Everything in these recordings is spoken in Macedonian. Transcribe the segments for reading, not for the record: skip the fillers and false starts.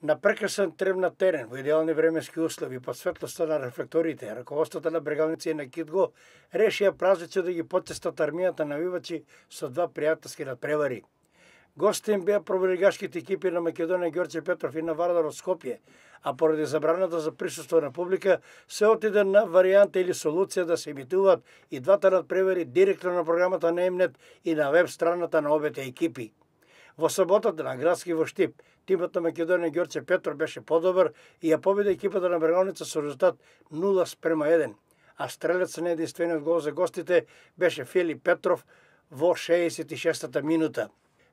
На прекрасен тревна терен, во идеални временски услови, под светлоста на рефлекторите, раководството на Брегалница и на Китго решија празници да ги потестат армијата навивачи со два пријателски надпревари. Гости им беа проболигашките екипи на Македонија Ѓорче Петров и на Вардар од Скопје, а поради забраната за присуство на публика се отиде на варијанта или солуција да се емитуваат и двата надпревари директно на програмата на Емнет и на веб страната на обете екипи. Во саботата на градски во Штип, тимот на Македонија Ѓорче Петров беше подобар и ја победи екипата на Брегалница со резултат 0:1, а стрелец на единствениот гол за гостите беше Филип Петров во 66-та минута.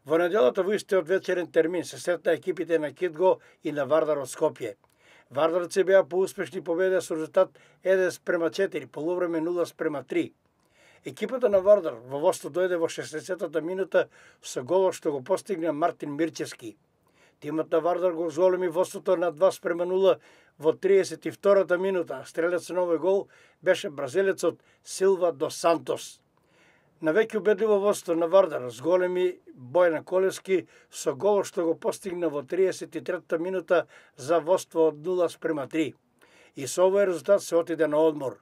Во неделата во истиот вечерен термин се сретна екипите на Китго и на Вардар од Скопје. Вардарци беа поуспешни победа со резултат 1:4, полувреме 0:3. Екипата на Вардар во водство дојде во 60-та минута со голот што го постигна Мартин Мирчевски. Тимот на Вардар го зголеми водството на 2:0 во 32-та минута, а стрелец на овој гол беше бразилецот Силва дос Сантос. На веќе убедливо водство на Вардар зголеми Бојан Колевски со голот што го постигна во 33-та минута за водство од 0:3. И со овој резултат се отиде на одмор.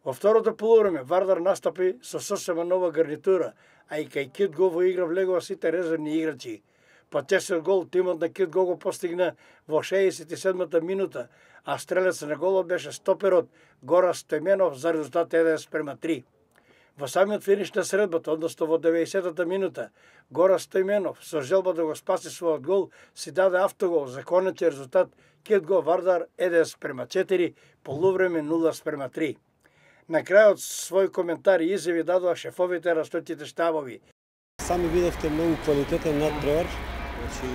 Во второто полувреме Вардар настапи со сосема нова гарнитура, а и кај Китго во игра влегува сите резервни играчи. Потесниот гол тимот на Китго го постигна во 67-та минута, а стрелец на голот беше стоперот Гора Стојменов за резултат 1:3. Во самиот финиш на средбата, односно во 90-та минута, Гора Стојменов со желба да го спаси својот гол си даде автогол за конечен резултат Китго Вардар 1:4, полувреме 0:3. На крајот свој коментар и изјави дадоа шефовите на стојките штабови. Сами видевте многу квалитетен надпревар. Значи,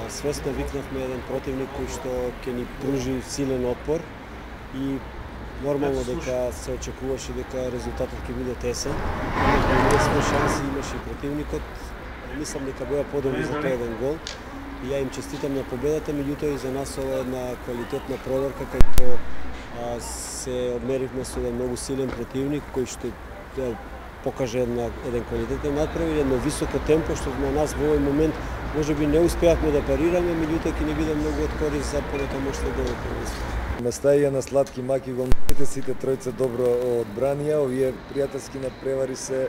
свесно викнавме еден противник кој што ќе ни пружи силен отпор и нормално дека се очекуваше дека резултатот ќе биде тесен. Имаме шанси, имаше и противникот. Мислам дека беа подобри за тој еден гол. И ја им честитам на победата, меѓутоа и за нас ова е една квалитетна проверка кај што се одмеривме со еден многу силен противник кој што покаже еден квалитетен надпревар и едно високо темпо што на нас во овој момент можеби не успеавме да парираме, меѓутоа ќе ни биде многу од корист за понатамошното првенство. Местаја на сладки маки голманите, сите тројца добро одбранија, овие пријателски надпревари се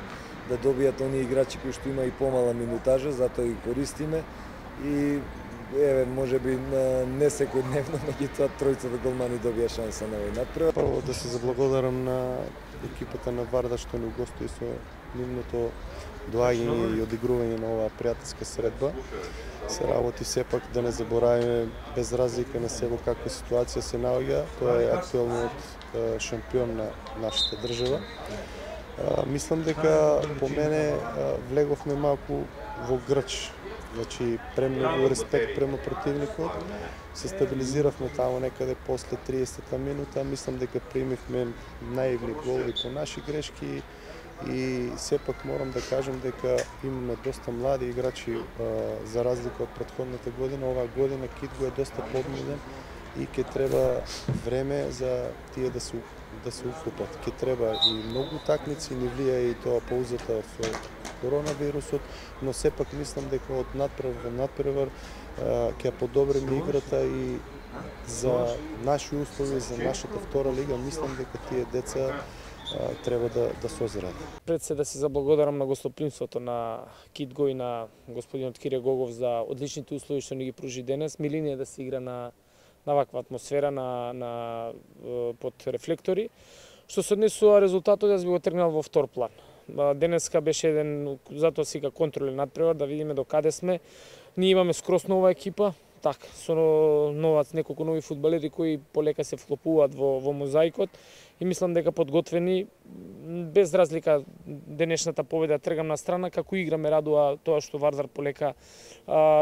да добијат оние играчи кои што има и помала минутажа, затоа ги користиме и еве можеби не секојдневно, меѓутоа тројцата голмани добија шанса на овој надпревар. Прво да се заблагодарам на екипата на Вардар што ни угости со нивното доаѓање и одигрување на оваа пријателска средба. Се работи сепак да не заборавиме без разлика на се во каква ситуација се наоѓа, тоа е актуелниот шампион на нашата држава. Мислам дека по мене влеговме малку во грч. Значи, премногу респект према противникот. Се стабилизиравме таму некаде после 30-та минута. Мислам дека примивме наивни голови по наши грешки и сепак морам да кажам дека имаме доста млади играчи за разлика од претходната година. Оваа година Китго е доста подмилен и ќе треба време за тие да се уфлупат. Ќе треба и многу такмици, ни влијае и тоа паузата со коронавирусот, но сепак мислам дека од надпревар во надпревар ќе подобриме играта и за наши услови, за нашата втора лига, мислам дека тие деца треба да созрат. Пред се да се заблагодарам на гостопримството на Китго и на господинот Кире Гогов за одличните услови што ни ги пружи денес. Милина е да се игра на ваква атмосфера под рефлектори. Што се однесува резултатот, јас би го тргнал во втор план. Денеска беше еден, затоа сега контролен надпревар, да видиме до каде сме. Ние имаме скрос нова екипа, така, со неколку нови фудбалери кои полека се вклопуваат во мозаикот и мислам дека подготвени, без разлика денешната победа тргам на страна, како игра ме радува тоа што Вардар полека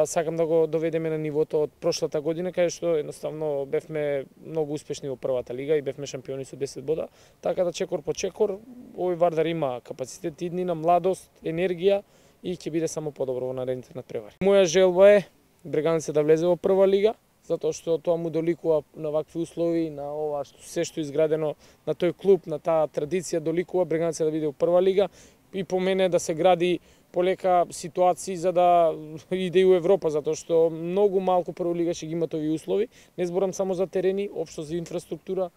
сакам да го доведеме на нивото од прошлата година, каде што едноставно бевме многу успешни во првата лига и бевме шампиони со 10 бода, така да чекор по чекор овој Вардар има капацитет, иднина, младост, енергија и ќе биде само подобро во наредните надпревари. Моја желба е Брегалница да влезе во прва лига, затоа што тоа му доликува на вакви услови, на ова се што изградено на тој клуб, на таа традиција доликува Брегалница да биде во прва лига и по мене да се гради полека ситуации за да иде и у Европа, затоа што многу малку прволига ќе ги имат овие услови. Не зборам само за терени, општо за инфраструктура,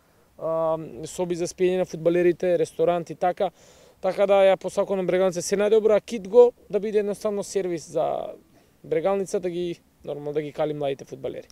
соби за спиење на фудбалерите, ресторанти, така да ја посакувам Брегалница се најдобро, а Китго да биде едноставно сервис за Брегалница да ги нормално да ги кали младите фудбалери.